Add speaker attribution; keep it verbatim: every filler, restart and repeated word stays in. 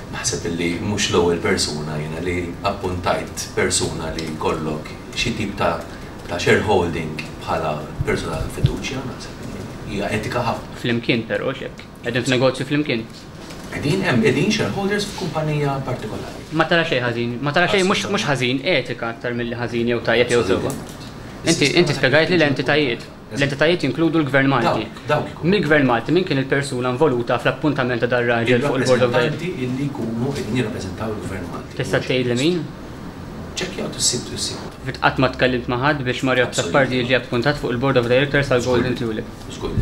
Speaker 1: Naħseb li mhux l-ewwel persuna jiena li appuntajt persuna li kollok xi tip ta' ta' shareholding bħala persuna ta' fiduċja, naħseb li hija etika ħafna.
Speaker 2: Flimkien però xek. Qegħdin f'negozju flimkien.
Speaker 1: Qegħdin hemm qegħdin shareholders f'kumpanija partikolari.
Speaker 2: Ma tara xejn ħażin, ma tara xejn mhux mhux ħażin, etika aktar milli ħażin jew tajjeb jew sewwa. Inti inti spjegajt li l-entitajiet. L-entitajiet jinkludu l-Gvern Malti.
Speaker 1: Dawk, dawk ikunu.
Speaker 2: Mill-Gvern Malti min kien il-persuna involuta fl-appuntament ta' dar-raġel fuq il-Board of Directors?
Speaker 1: Il-rappreżentanti illi jkunu qegħdin jirrappreżentaw il-Gvern Malti.
Speaker 2: Tista' tgħid li min?
Speaker 1: Ċekkjaw tissib tissib.
Speaker 2: Fit qatt ma tkellimt ma' ħadd biex Mario Azzopardi jiġi appuntat fuq il-Board of Directors tal Golden Tulip.
Speaker 1: Żgur.